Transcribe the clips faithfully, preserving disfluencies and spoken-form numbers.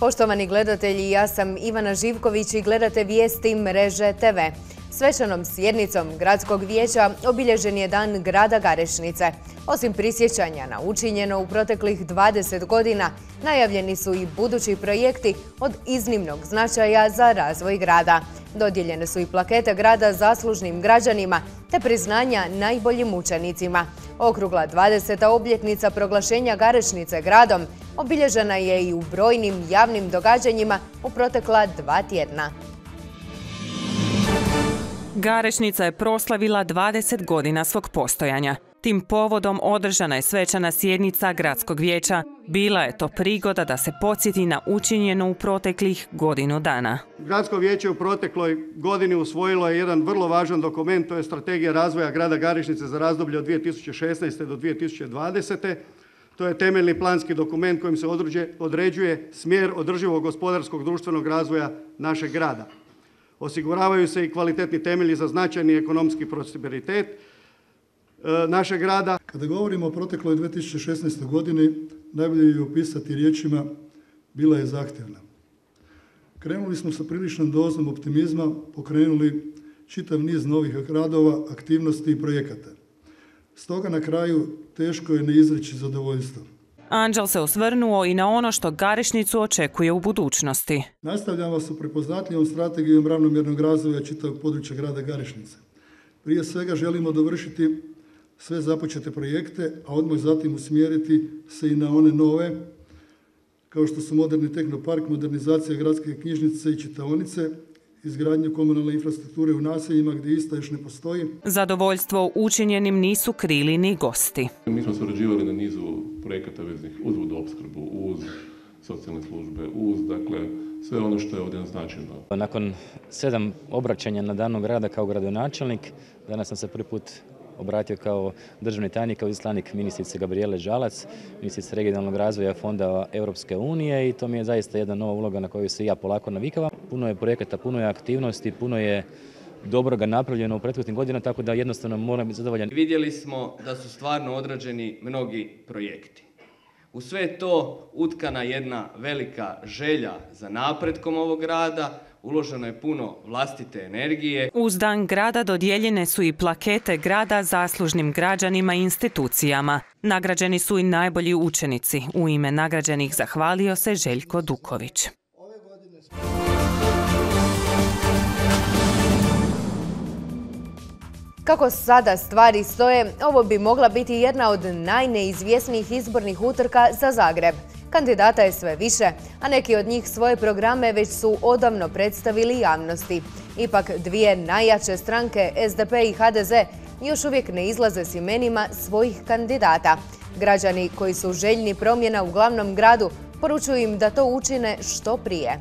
Poštovani gledatelji, ja sam Ivana Živković i gledate vijesti Mreže te ve. Svečanom sjednicom Gradskog vijeća obilježen je Dan grada Garešnice. Osim prisjećanja na učinjeno u proteklih dvadeset godina, najavljeni su i budući projekti od iznimnog značaja za razvoj grada. Dodijeljene su i plakete grada zaslužnim građanima te priznanja najboljim učenicima. Okrugla dvadeseta obljetnica proglašenja Garešnice gradom obilježena je i u brojnim javnim događanjima u protekla dva tjedna. Garešnica je proslavila dvadeset godina svog postojanja. Tim povodom održana je svečana sjednica Gradskog vijeća. Bila je to prigoda da se podsjeti na učinjeno u proteklih godinu dana. Gradsko vijeće u protekloj godini usvojilo je jedan vrlo važan dokument, to je Strategija razvoja grada Garešnice za razdoblje od dvije tisuće šesnaeste. do dvije tisuće dvadesete. To je temeljni planski dokument kojim se određuje smjer održivog gospodarskog društvenog razvoja našeg grada. Osiguravaju se i kvalitetni temelji za značajni ekonomski prosperitet našeg grada. Kada govorimo o protekloj dvije tisuće šesnaestoj. godini, najbolje je opisati riječima bila je zahtjevna. Krenuli smo sa priličnom dozom optimizma, pokrenuli čitav niz novih radova, aktivnosti i projekata. Stoga na kraju teško je ne izreći zadovoljstvo. Anđel se osvrnuo i na ono što Garešnicu očekuje u budućnosti. Nastavljamo sa prepoznatljivom strategijom ravnomjernog razvoja čitavog područja grada Garešnice. Prije svega želimo dovršiti sve započete projekte, a odmah zatim usmjeriti se i na one nove, kao što su moderni tehnopark, modernizacija gradske knjižnice i čitaonice, izgradnju komunalne infrastrukture u naseljima gdje ista još ne postoji. Zadovoljstvo učinjenim nisu krili ni gosti. Mi smo surađivali na nizu projekata veznih uz vodoopskrbu, uz socijalne službe, uz dakle sve ono što je ovdje naznačeno. Nakon sedam obraćanja na Danu grada kao gradonačelnik, danas sam se prvi put obratio kao državni tajnik, kao izaslanik ministrice Gabrijele Žalac, ministrice regionalnog razvoja Fonda Europske unije, i to mi je zaista jedna nova uloga na koju se ja polako navikavam. Puno je projekata, puno je aktivnosti, puno je dobroga napravljeno u prethodnim godinama, tako da jednostavno moram biti zadovoljan. Vidjeli smo da su stvarno odrađeni mnogi projekti. U sve to utkana jedna velika želja za napretkom ovog grada, uloženo je puno vlastite energije. Uz Dan grada dodijeljene su i plakete grada zaslužnim građanima i institucijama. Nagrađeni su i najbolji učenici. U ime nagrađenih zahvalio se Željko Duković. Kako sada stvari stoje, ovo bi mogla biti jedna od najneizvjesnijih izbornih utrka za Zagreb. Kandidata je sve više, a neki od njih svoje programe već su odavno predstavili javnosti. Ipak dvije najjače stranke, es de pe i ha de ze, još uvijek ne izlaze s imenima svojih kandidata. Građani koji su željni promjena u glavnom gradu poručuju im da to učine što prije.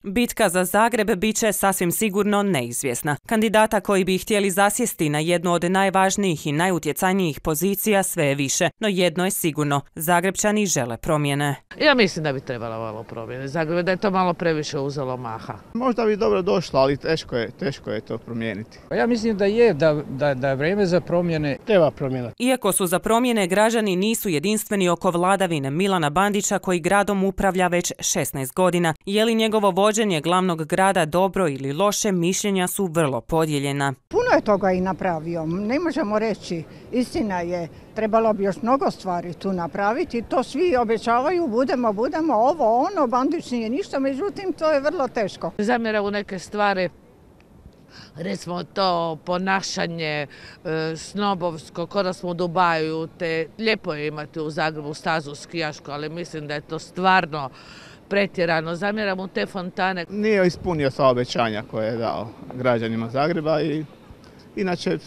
Bitka za Zagreb bit će sasvim sigurno neizvjesna. Kandidata koji bi htjeli zasjesti na jednu od najvažnijih i najutjecajnijih pozicija sve je više. No jedno je sigurno, Zagrebčani žele promjene. Ja mislim da bi trebalo malo promjene. Zagreb da je to malo previše uzelo maha. Možda bi dobro došlo, ali teško je, teško je to promijeniti. Ja mislim da je, da, da, da je vrijeme za promjene. Treba promjena. Iako su za promjene, građani nisu jedinstveni oko vladavine Milana Bandića koji gradom upravlja već šesnaest godina. Je li njegovo vođenje glavnog grada dobro ili loše, mišljenja su vrlo podijeljena. Puno je toga i napravio, ne možemo reći. Istina je, trebalo bi još mnogo stvari tu napraviti. To svi obećavaju, budemo, budemo, ovo, ono, Bandić nije ništa, međutim to je vrlo teško. Zamjera u neke stvari, recimo to ponašanje e, snobovsko, ko da smo u Dubaju, te lijepo je imati u Zagrebu stazu skijašku, ali mislim da je to stvarno pretjerano. Zamjeram u te fontane. Nije ispunio sva obećanja koje je dao građanima Zagreba i inače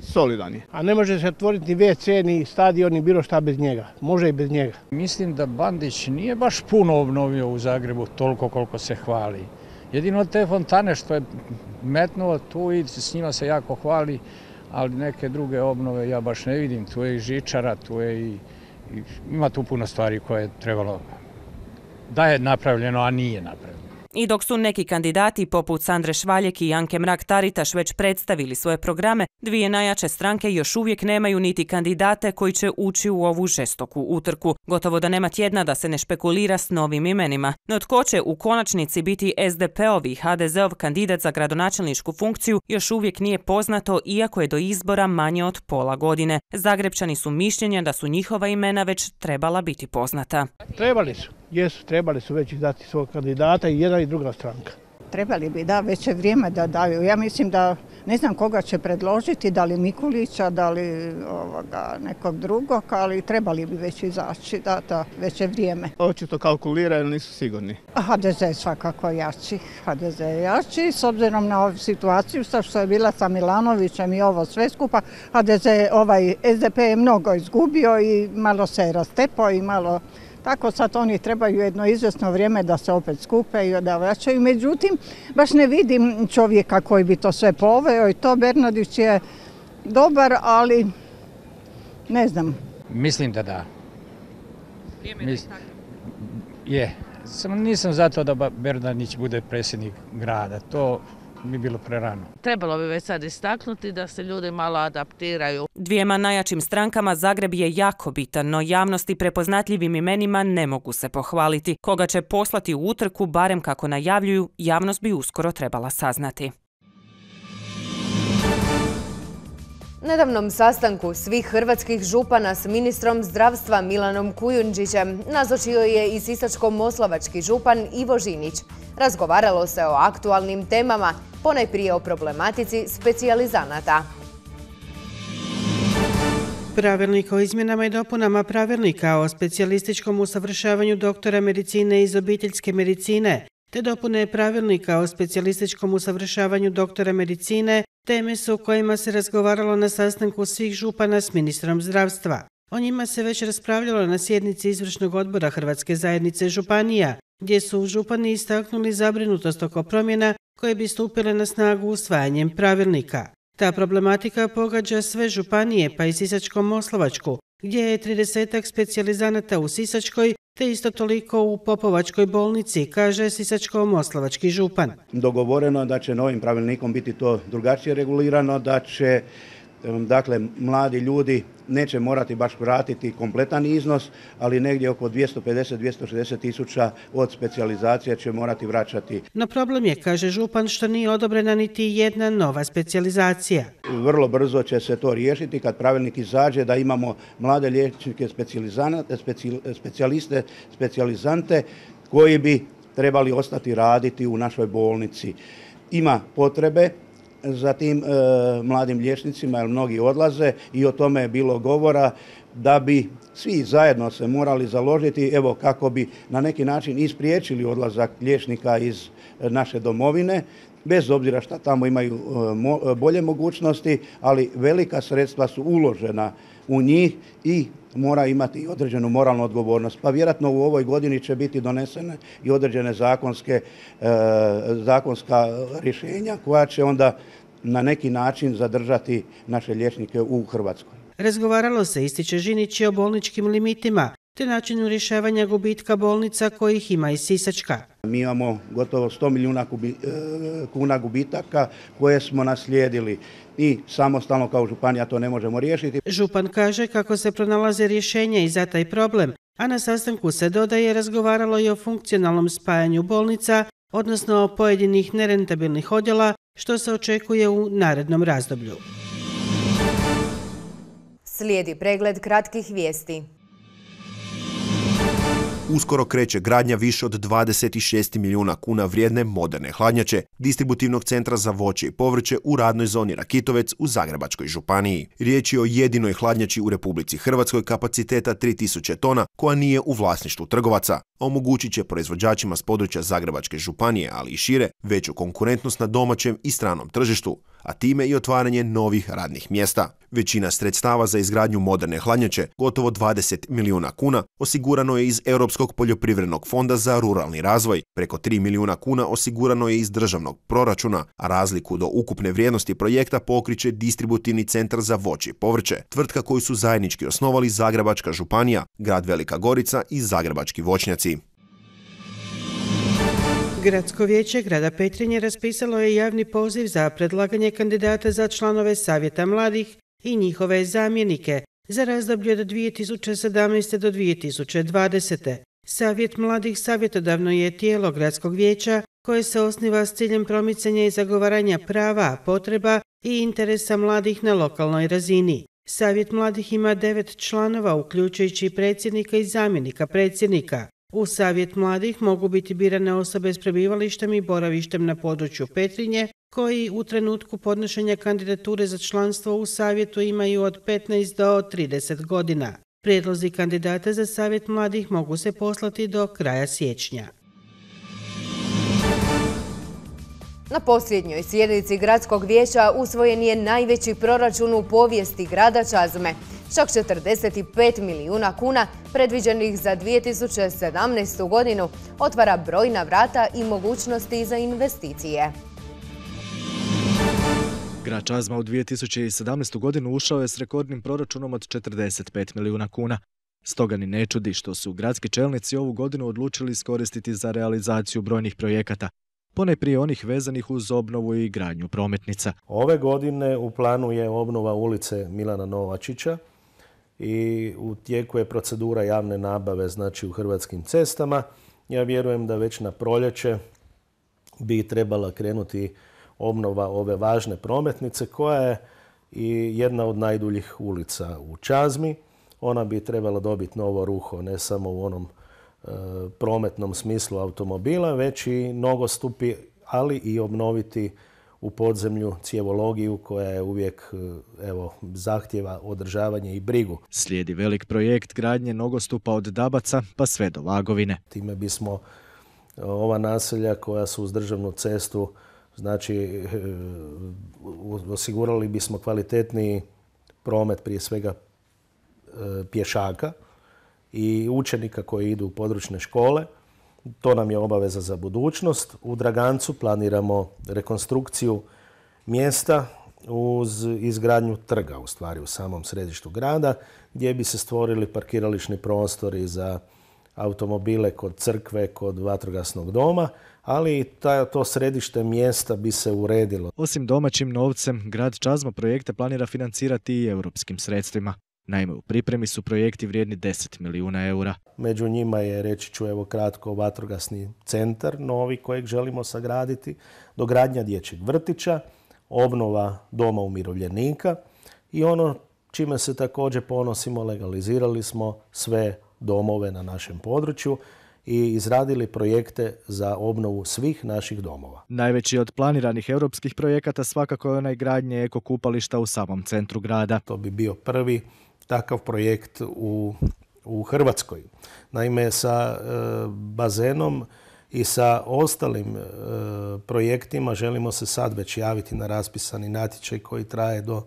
solidan je. A ne može se otvoriti ni ve ce, ni stadion, ni bilo šta bez njega. Može i bez njega. Mislim da Bandić nije baš puno obnovio u Zagrebu toliko koliko se hvali. Jedino te fontane što je metnuo tu i s njima se jako hvali, ali neke druge obnove ja baš ne vidim. Tu je i žičara, tu je i, i ima tu puno stvari koje je trebalo da je napravljeno, a nije napravljeno. I dok su neki kandidati poput Sandre Švaljek i Anke Mrak-Taritaš već predstavili svoje programe, dvije najjače stranke još uvijek nemaju niti kandidate koji će ući u ovu žestoku utrku. Gotovo da nema tjedna da se ne špekulira s novim imenima. No tko će u konačnici biti S D P-ov i H D Z-ov kandidat za gradonačelničku funkciju još uvijek nije poznato, iako je do izbora manje od pola godine. Zagrebčani su mišljenja da su njihova imena već trebala biti poznata. Trebali su, jesu, trebali su već izdati svog kandidata i jedna i druga stranka. Trebali bi, da, već je vrijeme da daju. Ja mislim da ne znam koga će predložiti, da li Mikulića, da li ovoga, nekog drugog, ali trebali bi već izaći, da, da, već je vrijeme. Očito kalkuliraju, nisu sigurni. H D Z je svakako jači, H D Z je jači, s obzirom na ovu situaciju što je bila sa Milanovićem i ovo sve skupa, H D Z, ovaj S D P je mnogo izgubio i malo se je rastepao i malo... Tako sad oni trebaju jedno izvjesno vrijeme da se opet skupe i da vraćaju. Međutim, baš ne vidim čovjeka koji bi to sve poveo i to Bernardić je dobar, ali ne znam. Mislim da da. Mis... Je. Samo nisam za to da Bernardić bude predsjednik grada. To bi bilo prerano. Trebalo bi već sad istaknuti da se ljudi malo adaptiraju. Dvijema najjačim strankama Zagreb je jako bitan, no javnosti prepoznatljivim imenima ne mogu se pohvaliti. Koga će poslati u utrku, barem kako najavljuju, javnost bi uskoro trebala saznati. Nedavnom sastanku svih hrvatskih župana s ministrom zdravstva Milanom Kujundžićem nazočio je i sisačko-moslavački župan Ivo Žinić. Razgovaralo se o aktualnim temama, ponajprije o problematici specijalizanata. Pravilnik o izmjenama i dopunama pravilnika o specijalističkom usavršavanju doktora medicine iz obiteljske medicine te dopune pravilnika o specijalističkom usavršavanju doktora medicine teme su o kojima se razgovaralo na sastanku svih župana s ministrom zdravstva. O njima se već raspravljalo na sjednici izvršnog odbora Hrvatske zajednice županija, gdje su župani istaknuli zabrinutost oko promjena koje bi stupile na snagu usvajanjem pravilnika. Ta problematika pogađa sve županije, pa i Sisačko-moslavačku, gdje je tridesetak specijalizanata u Sisačkoj, te isto toliko u Popovačkoj bolnici, kaže Sisačko-moslavački župan. Dogovoreno je da će novim pravilnikom biti to drugačije regulirano, da će dakle, mladi ljudi neće morati baš vratiti kompletan iznos, ali negdje oko dvjesto pedeset do dvjesto šezdeset tisuća od specijalizacije će morati vraćati. No problem je, kaže župan, što nije odobrena niti jedna nova specijalizacija. Vrlo brzo će se to riješiti kad pravilnik izađe, da imamo mlade liječnike, specijaliste, specijalizante koji bi trebali ostati raditi u našoj bolnici. Ima potrebe za tim e, mladim liječnicima, jer mnogi odlaze i o tome je bilo govora da bi svi zajedno se morali založiti, evo kako bi na neki način ispriječili odlazak liječnika iz naše domovine, bez obzira što tamo imaju e, mo, bolje mogućnosti, ali velika sredstva su uložena u njih i mora imati određenu moralnu odgovornost. Pa vjerojatno u ovoj godini će biti donesene i određene zakonske, e, zakonska rješenja koja će onda na neki način zadržati naše liječnike u Hrvatskoj. Razgovaralo se, ističe Žinić, o bolničkim limitima te načinu rješavanja gubitka bolnica kojih ima i Sisačka. Mi imamo gotovo sto milijuna kubi, kuna gubitaka koje smo naslijedili i samostalno kao županija to ne možemo riješiti. Župan kaže kako se pronalaze rješenja i za taj problem, a na sastanku se dodaje razgovaralo i o funkcionalnom spajanju bolnica, odnosno o pojedinih nerentabilnih odjela, što se očekuje u narednom razdoblju. Slijedi pregled kratkih vijesti. Uskoro kreće gradnja više od dvadeset šest milijuna kuna vrijedne moderne hladnjače distributivnog centra za voće i povrće u radnoj zoni Rakitovec u Zagrebačkoj županiji. Riječ je o jedinoj hladnjači u Republici Hrvatskoj kapaciteta tri tisuće tona koja nije u vlasništvu trgovaca. Omogućit će proizvođačima s područja Zagrebačke županije, ali i šire, veću konkurentnost na domaćem i stranom tržištu, a time i otvaranje novih radnih mjesta. Većina sredstava za izgradnju moderne hladnjače, gotovo dvadeset milijuna kuna, osigurano je iz Europskog poljoprivrednog fonda za ruralni razvoj. Preko tri milijuna kuna osigurano je iz državnog proračuna, a razliku do ukupne vrijednosti projekta pokriće distributivni centar za voće i povrće, tvrtka koju su zajednički osnovali Zagrebačka županija, grad Velika Gorica i Zagrebački voćnjaci. Gradsko vijeće grada Petrinje raspisalo je javni poziv za predlaganje kandidata za članove Savjeta mladih i njihove zamjenike za razdoblje od dvije tisuće sedamnaeste. do dvije tisuće dvadesete. Savjet mladih savjetodavno je tijelo Gradskog vijeća koje se osniva s ciljem promicanja i zagovaranja prava, potreba i interesa mladih na lokalnoj razini. Savjet mladih ima devet članova, uključujući predsjednika i zamjenika predsjednika. U Savjet mladih mogu biti birane osobe s prebivalištem i boravištem na području Petrinje, koji u trenutku podnošenja kandidature za članstvo u Savjetu imaju od petnaest do trideset godina. Prijedlozi kandidata za Savjet mladih mogu se poslati do kraja siječnja. Na posljednjoj sjednici Gradskog vijeća usvojen je najveći proračun u povijesti grada Čazme. Čak četrdeset pet milijuna kuna predviđenih za dvije tisuće sedamnaestu. godinu otvara brojna vrata i mogućnosti za investicije. Grad Čazma u dvije tisuće sedamnaestu. godinu ušao je s rekordnim proračunom od četrdeset pet milijuna kuna. Stoga ni ne čudi što su gradski čelnici ovu godinu odlučili iskoristiti za realizaciju brojnih projekata, ponajprije onih vezanih uz obnovu i gradnju prometnica. Ove godine u planu je obnova ulice Milana Novačića i u tijeku je procedura javne nabave, znači u Hrvatskim cestama. Ja vjerujem da već na proljeće bi trebala krenuti obnova ove važne prometnice koja je i jedna od najduljih ulica u Čazmi. Ona bi trebala dobiti novo ruho, ne samo u onom e, prometnom smislu automobila, već i nogostupi, ali i obnoviti u podzemlju cjevologiju koja je uvijek evo, zahtjeva održavanje i brigu. Slijedi velik projekt gradnje nogostupa od Dabaca pa sve do Vagovine. Time bismo ova naselja koja su uz državnu cestu, znači osigurali bismo kvalitetniji promet prije svega pješaka i učenika koji idu u područne škole. To nam je obaveza za budućnost. U Dragancu planiramo rekonstrukciju mjesta uz izgradnju trga, u stvari u samom središtu grada, gdje bi se stvorili parkirališni prostori za automobile kod crkve, kod vatrogasnog doma, ali i to središte mjesta bi se uredilo. Osim domaćim novcem, grad Čazma projekte planira financirati i europskim sredstvima. Naime, u pripremi su projekti vrijedni deset milijuna eura. Među njima je, reći ću evo kratko, vatrogasni centar novi kojeg želimo sagraditi, dogradnja dječjeg vrtića, obnova doma umirovljenika i ono čime se također ponosimo, legalizirali smo sve domove na našem području i izradili projekte za obnovu svih naših domova. Najveći od planiranih europskih projekata svakako je onaj gradnje eko kupališta u samom centru grada. To bi bio prvi takav projekt u, u Hrvatskoj. Naime, sa e, bazenom i sa ostalim e, projektima želimo se sad već javiti na raspisani natječaj koji traje do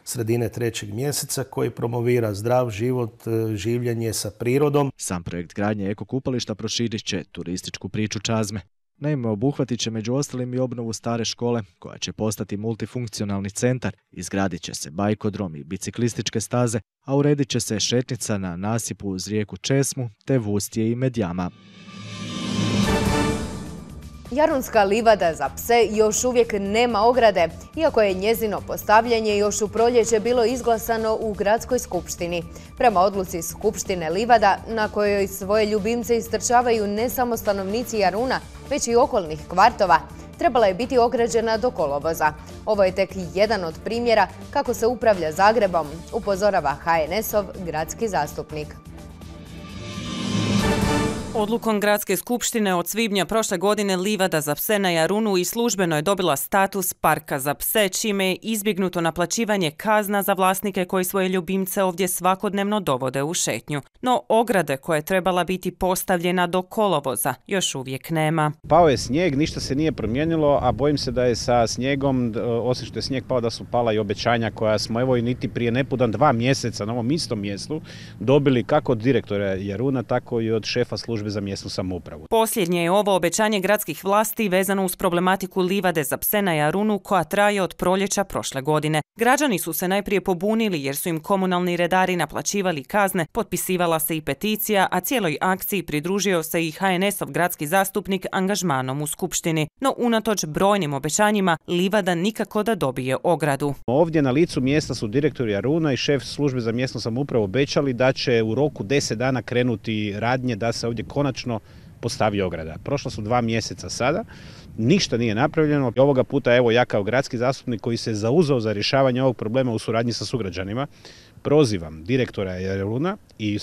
sredine trećeg mjeseca, koji promovira zdrav život, življenje sa prirodom. Sam projekt gradnje eko kupališta proširit će turističku priču Čazme. Naime, obuhvatit će među ostalim i obnovu stare škole, koja će postati multifunkcionalni centar, izgradit će se bajkodrom i biciklističke staze, a uredit će se šetnica na nasipu uz rijeku Česmu, te Vustje i Medjama. Jarunska livada za pse još uvijek nema ograde, iako je njezino postavljanje još u proljeće bilo izglasano u gradskoj skupštini. Prema odluci Skupštine livada, na kojoj svoje ljubimce istrčavaju ne samo stanovnici Jaruna, već i okolnih kvartova, trebala je biti ograđena do kolovoza. Ovo je tek jedan od primjera kako se upravlja Zagrebom, upozorava ha en esov gradski zastupnik. Odlukom Gradske skupštine od svibnja prošle godine livada za pse na Jarunu i službeno je dobila status parka za pse, čime je izbjegnuto naplaćivanje kazna za vlasnike koji svoje ljubimce ovdje svakodnevno dovode u šetnju. No ograde koja je trebala biti postavljena do kolovoza još uvijek nema. Pao je snijeg, ništa se nije promijenilo, a bojim se da je sa snijegom, osim što je snijeg pao, da su pala i obećanja koja smo evo i niti prije nepudan dva mjeseca na ovom istom mjestu dobili kako od direktora Jaruna, tako i od šefa službe službe za mjesnu samoupravu. Posljednje je ovo obećanje gradskih vlasti vezano uz problematiku livade za pse na Jarunu koja traje od proljeća prošle godine. Građani su se najprije pobunili jer su im komunalni redari naplaćivali kazne, potpisivala se i peticija, a cijeloj akciji pridružio se i ha en es-ov gradski zastupnik angažmanom u skupštini. No unatoč brojnim obećanjima, livada nikako da dobije ogradu. Ovdje na licu mjesta su direktor Jaruna i šef službe za mjesnu samoupravu obećali da će u roku deset dana krenuti radnje da se ovdje konačno postavi ograda. Prošla su dva mjeseca sada, ništa nije napravljeno. Ovoga puta evo ja kao gradski zastupnik koji se zauzeo za rješavanje ovog problema u suradnji sa sugrađanima, prozivam direktora Jaruna i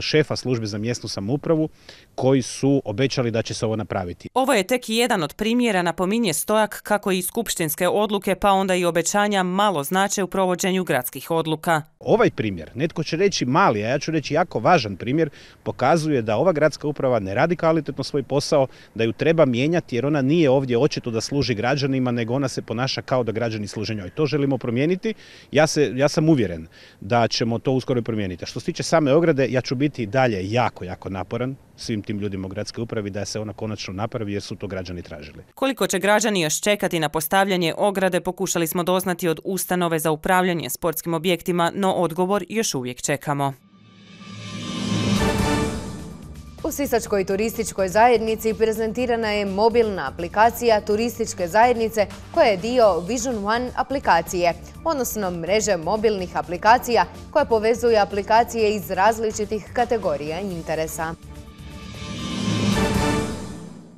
šefa službe za mjesnu samoupravu koji su obećali da će se ovo napraviti. Ovo je tek jedan od primjera, napominje Stojak, kako i skupštinske odluke pa onda i obećanja malo znače u provođenju gradskih odluka. Ovaj primjer, netko će reći mali, a ja ću reći jako važan primjer, pokazuje da ova gradska uprava ne radi kvalitetno svoj posao, da ju treba mijenjati jer ona nije ovdje očito da služi građanima, nego ona se ponaša kao da građani služe njoj. To želimo promijeniti. Ja, se, ja sam uvjeren da ćemo to uskoro promijeniti. Što se tiče same ograde, ja ću biti dalje jako, jako naporan svim tim ljudima u gradskoj upravi da se ona konačno napravi jer su to građani tražili. Koliko će građani još čekati na postavljanje ograde pokušali smo doznati od ustanove za upravljanje sportskim objektima, no odgovor još uvijek čekamo. U Sisačkoj turističkoj zajednici prezentirana je mobilna aplikacija turističke zajednice koja je dio Vision One aplikacije, odnosno mreže mobilnih aplikacija koja povezuje aplikacije iz različitih kategorija interesa.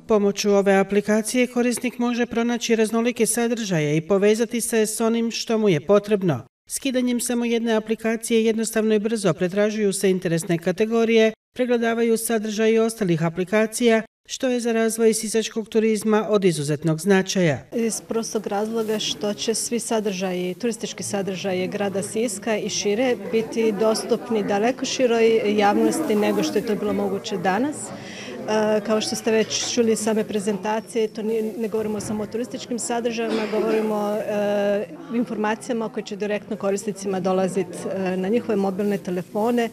Pomoću ove aplikacije korisnik može pronaći raznolike sadržaje i povezati se s onim što mu je potrebno. Skidanjem samo jedne aplikacije jednostavno i brzo pretražuju se interesne kategorije, pregledavaju sadržaj ostalih aplikacija, što je za razvoj sisačkog turizma od izuzetnog značaja. Iz prostog razloga što će svi sadržaji, turistički sadržaji grada Siska i šire biti dostupni daleko široj javnosti nego što je to bilo moguće danas. Kao što ste već čuli same prezentacije, to ne govorimo samo o turističkim sadržajima, govorimo o informacijama koje će direktno korisnicima dolaziti na njihove mobilne telefone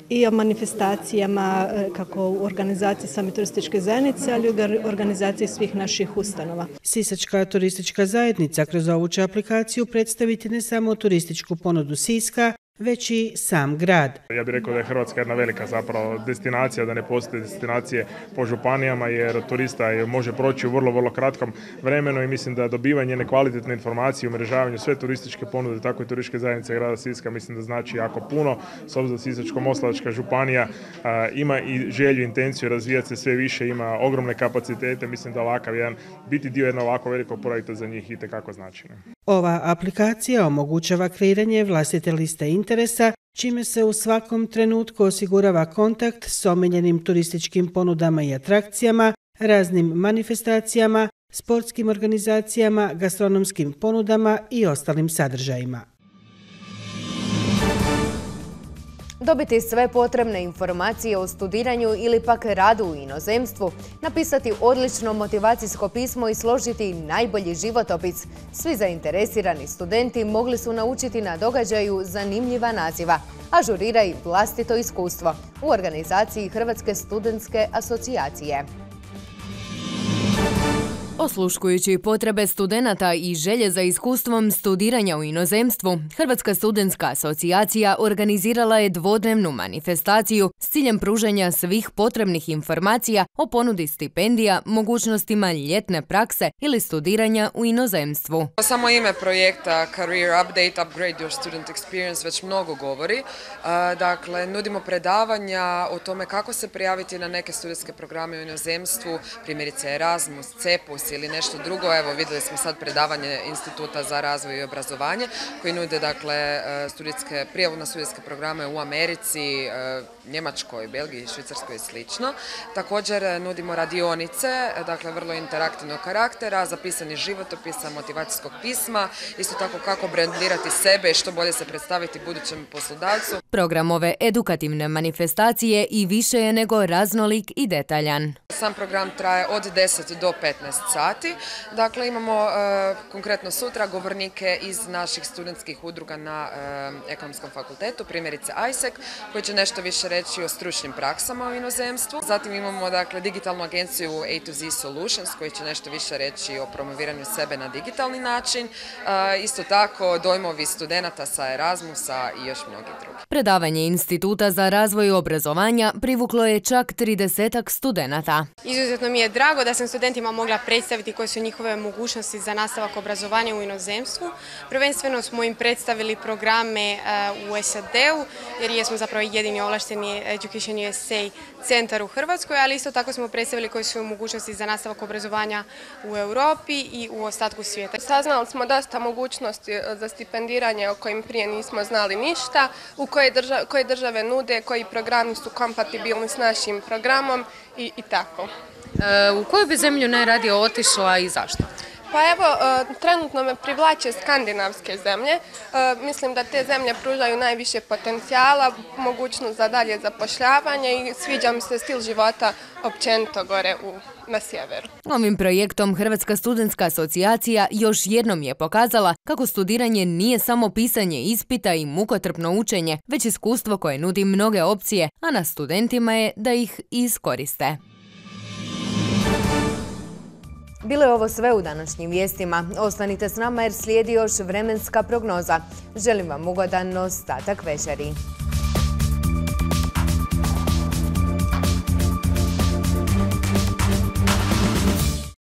i o manifestacijama kako u organizaciji same turističke zajednice, ali i u organizaciji svih naših ustanova. Sisačka turistička zajednica kroz ovu će aplikaciju predstaviti ne samo turističku ponudu Siska, već i sam grad. Ja bih rekao da je Hrvatska jedna velika zapravo destinacija, da ne postoje destinacije po županijama jer turista može proći u vrlo, vrlo kratkom vremenu i mislim da dobivanje jedne kvalitetne informacije, umrežavanju sve turističke ponude, tako i turističke zajednice grada Siska mislim da znači jako puno. S obzirom da Sisačko-moslavačka županija a, ima i želju, intenciju razvijati se sve više, ima ogromne kapacitete, mislim da ovakav jedan, biti dio jednog ovako velikog projekta za njih itekako znači. Ova aplikacija omogućava kreiranje vlastite liste interesa, čime se u svakom trenutku osigurava kontakt s omiljenim turističkim ponudama i atrakcijama, raznim manifestacijama, sportskim organizacijama, gastronomskim ponudama i ostalim sadržajima. Dobiti sve potrebne informacije o studiranju ili pak radu u inozemstvu, napisati odlično motivacijsko pismo i složiti najbolji životopis. Svi zainteresirani studenti mogli su naučiti na događaju zanimljiva naziva Ažuriraj vlastito iskustvo u organizaciji Hrvatske studentske asocijacije. Osluškujući potrebe studenata i želje za iskustvom studiranja u inozemstvu, Hrvatska studentska asocijacija organizirala je dvodnevnu manifestaciju s ciljem pružanja svih potrebnih informacija o ponudi stipendija, mogućnostima ljetne prakse ili studiranja u inozemstvu. Samo ime projekta Career Update, Upgrade Your Student Experience već mnogo govori. Dakle, nudimo predavanja o tome kako se prijaviti na neke studentske programe u inozemstvu, primjerice Erasmus, Cepus ili nešto drugo. Evo, vidjeli smo sad predavanje Instituta za razvoj i obrazovanje koji nude dakle studijske, prijavu na studijske programe u Americi, Njemačkoj, Belgiji, Švicarskoj i slično. Također nudimo radionice, dakle vrlo interaktivnog karaktera, za pisanje životopisa, motivacijskog pisma, isto tako kako brendirati sebe i što bolje se predstaviti budućem poslodavcu. Program ove edukativne manifestacije i više je nego raznolik i detaljan. Sam program traje od deset do petnaest sati. sati. Dakle, imamo konkretno sutra govornike iz naših studentskih udruga na Ekonomskom fakultetu, primjerice I S E C, koji će nešto više reći o stručnim praksama u inozemstvu. Zatim imamo dakle, digitalnu agenciju A to Z Solutions, koji će nešto više reći o promoviranju sebe na digitalni način. Isto tako dojmovi studenata sa Erasmusa i još mnogi drugi. Predavanje Instituta za razvoj obrazovanja privuklo je čak tridesetak studenata. Izuzetno mi je drago da sam studentima mogla predstaviti koje su njihove mogućnosti za nastavak obrazovanja u inozemstvu. Prvenstveno smo im predstavili programe u S A D-u, jer jesmo zapravo jedini ovlašteni Education U S A centar u Hrvatskoj, ali isto tako smo predstavili koje su mogućnosti za nastavak obrazovanja u Europi i u ostatku svijeta. Saznali smo dosta mogućnosti za stipendiranje o kojim prije nismo znali ništa, u koje, države, koje države nude, koji programi su kompatibilni s našim programom i, i tako. E, u koju bi zemlju najradije otišla i zašto? Pa evo, trenutno me privlače skandinavske zemlje. Mislim da te zemlje pružaju najviše potencijala, mogućnost za dalje zapošljavanje i sviđa mi se stil života općenito gore u, na sjeveru. Ovim projektom Hrvatska studentska asocijacija još jednom je pokazala kako studiranje nije samo pisanje ispita i mukotrpno učenje, već iskustvo koje nudi mnoge opcije, a na studentima je da ih iskoriste. Bilo je ovo sve u današnjim vijestima. Ostanite s nama jer slijedi još vremenska prognoza. Želim vam ugodan ostatak večeri.